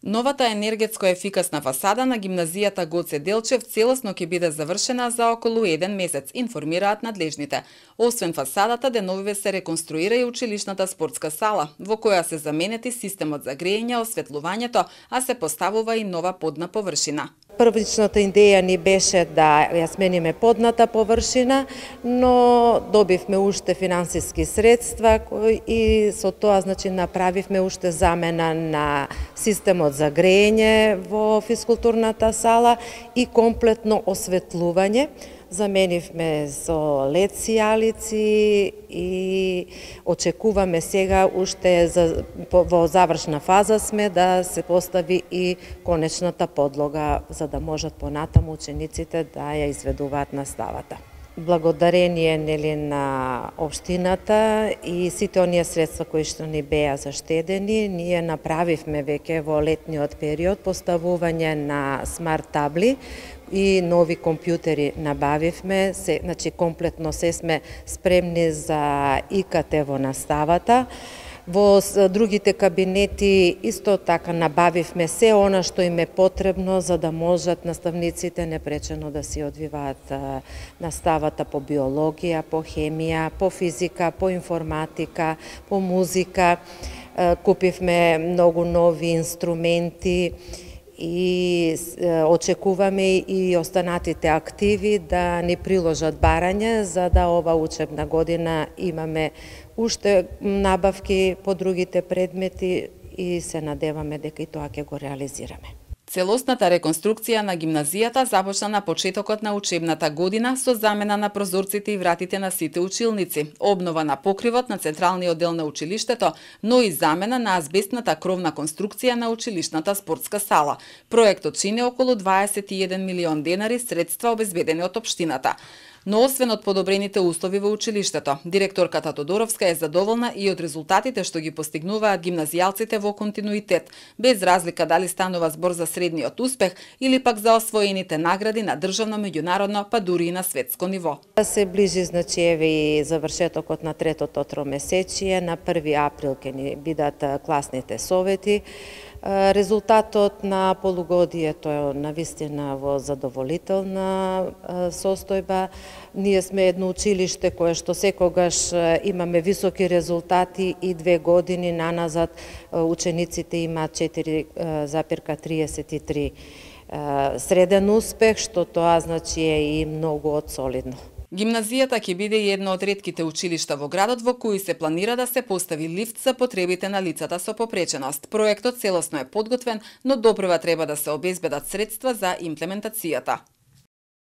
Новата енергетско ефикасна фасада на гимназијата Гоце Делчев целосно ќе биде завршена за околу 1 месец, информираат надлежните. Освен фасадата, деновиве се реконструира и училишната спортска сала, во која се заменети системот за грејење, осветлувањето, а се поставува и нова подна површина. Првичната идеја ни беше да ја смениме подната површина, но добивме уште финансиски средства и со тоа направивме уште замена на системот за грејење во физкултурната сала и комплетно осветлување. Заменивме со LED сијалици и очекуваме сега уште во завршна фаза сме да се постави и конечната подлога за да можат понатаму учениците да ја изведуваат наставата. Благодарение на општината и сите оние средства кои што ни беа заштедени, ние направивме веќе во летниот период поставување на смарт табли и нови компјутери набавивме, комплетно се сме спремни за ИКТ во наставата. Во другите кабинети исто така набавивме се она што им е потребно за да можат наставниците непречено да си одвиваат наставата по биологија, по хемија, по физика, по информатика, по музика. Купивме многу нови инструменти и очекуваме и останатите активи да ни приложат барање за да ова учебна година имаме уште набавки по другите предмети и се надеваме дека и тоа ќе го реализираме. Целосната реконструкција на гимназијата започна на почетокот на учебната година со замена на прозорците и вратите на сите училници, обнова на покривот на централниот дел на училиштето, но и замена на азбестната кровна конструкција на училишната спортска сала. Проектот чини околу 21 милион денари средства обезбедени од општината. Но освен од подобрените услови во училиштето, директорката Тодоровска е задоволна и од резултатите што ги постигнуваат гимназијалците во континуитет, без разлика дали станува збор за средниот успех или пак за освоените награди на државно, меѓународно, па дури и на светско ниво. Се ближи и завршетокот на третото тромесечие, на 1 април ќе ни бидат класните совети. Резултатот на полугодието е навистина во задоволителна состојба. Ние сме едно училиште кое што секогаш имаме високи резултати и 2 години наназад учениците имаат 4,33 среден успех, што тоа е и многу солидно. Гимназијата ќе биде и едно од ретките училишта во градот во кои се планира да се постави лифт за потребите на лицата со попреченост. Проектот целосно е подготвен, но допрва треба да се обезбедат средства за имплементацијата.